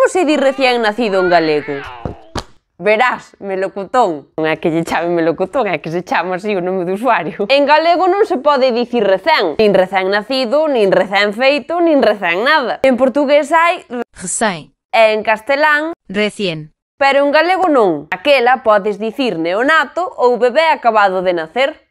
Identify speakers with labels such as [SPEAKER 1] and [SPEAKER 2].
[SPEAKER 1] Como se di recién nacido en galego? Verás, melocotón. Non é que lle chame melocotón, é que se chama así o nome do usuario. En galego non se pode dicir recén, nin recén nacido, nin recén feito, nin recén nada. En portugués hai
[SPEAKER 2] recém
[SPEAKER 1] e en castelán
[SPEAKER 2] recién.
[SPEAKER 1] Pero en galego non. Aquela podes dicir neonato ou bebé acabado de nacer.